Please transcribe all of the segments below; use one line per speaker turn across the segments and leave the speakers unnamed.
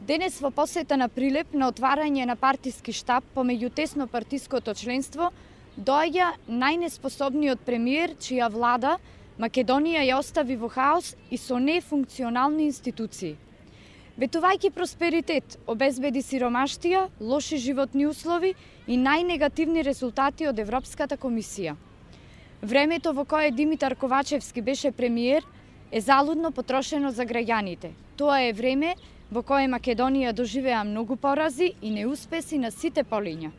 Денес во посета на Прилеп на отварање на партиски штаб помеѓу тесно партиското членство доаѓа најнеспособниот премиер чија влада Македонија ја остави во хаос и со нефункционални институции. Ветувајќи просперитет, обезбеди сиромаштија, лоши животни услови и најнегативни резултати од Европската комисија. Времето во кое Димитар Ковачевски беше премиер е залудно потрошено за граѓаните. Тоа е време во кое Македонија доживеа многу порази и неуспеси на сите полиња.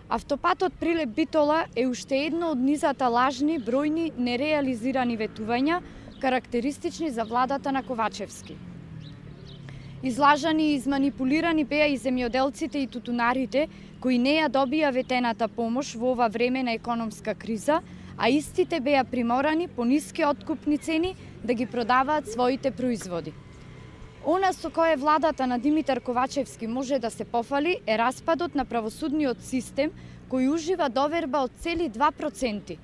Автопатот Прилеп-Битола е уште едно од низата лажни, бројни, нереализирани ветувања, карактеристични за владата на Ковачевски. Излажани и изманипулирани беа и земјоделците и тутунарите, кои не ја добија ветената помош во ова време на економска криза, а истите беа приморани по ниски откупни цени да ги продаваат своите производи. Она со кое владата на Димитар Ковачевски може да се пофали е распадот на правосудниот систем кој ужива доверба од цели 2%.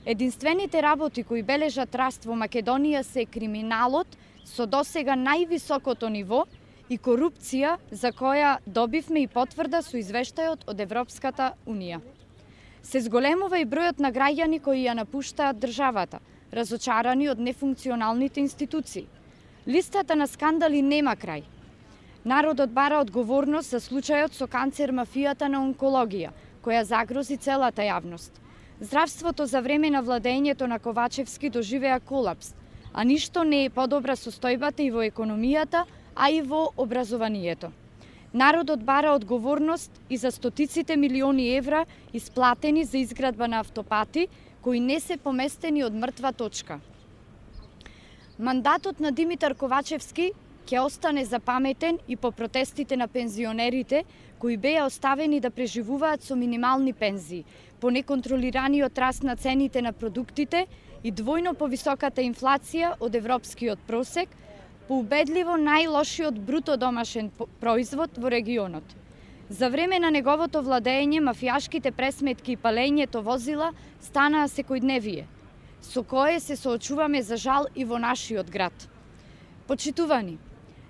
Единствените работи кои бележат раст во Македонија се криминалот со досега највисокото ниво и корупција за која добивме и потврда со извештајот од Европската Унија. Се зголемува и бројот на граѓани кои ја напуштаат државата, разочарани од нефункционалните институции. Листата на скандали нема крај. Народот бара одговорност за случајот со канцер мафијата на онкологија, која загрози целата јавност. Здравството за време на владењето на Ковачевски доживеа колапс, а ништо не е подобра состојбата и во економијата, а и во образованието. Народот бара одговорност и за стотиците милиони евра исплатени за изградба на автопати, кои не се поместени од мртва точка. Мандатот на Димитар Ковачевски ќе остане запаметен и по протестите на пензионерите, кои беа оставени да преживуваат со минимални пензии, по неконтролираниот раст на цените на продуктите и двојно повисоката инфлација од европскиот просек, по убедливо најлошиот бруто домашен производ во регионот. За време на неговото владење, мафијашките пресметки и палењето возила станаа секојдневие, со кое се соочуваме за жал и во нашиот град. Почитувани,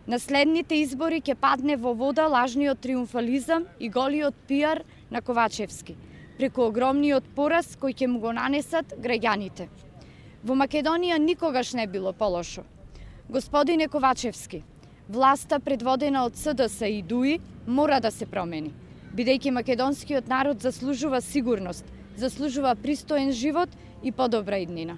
на следните избори ќе падне во вода лажниот триумфализам и голиот пиар на Ковачевски, преку огромниот пораз кој ќе му го нанесат граѓаните. Во Македонија никогаш не било полошо. Господине Ковачевски, власта предводена од СДС и ДУИ мора да се промени, бидејќи македонскиот народ заслужува сигурност, заслужува пристоен живот и подобра иднина.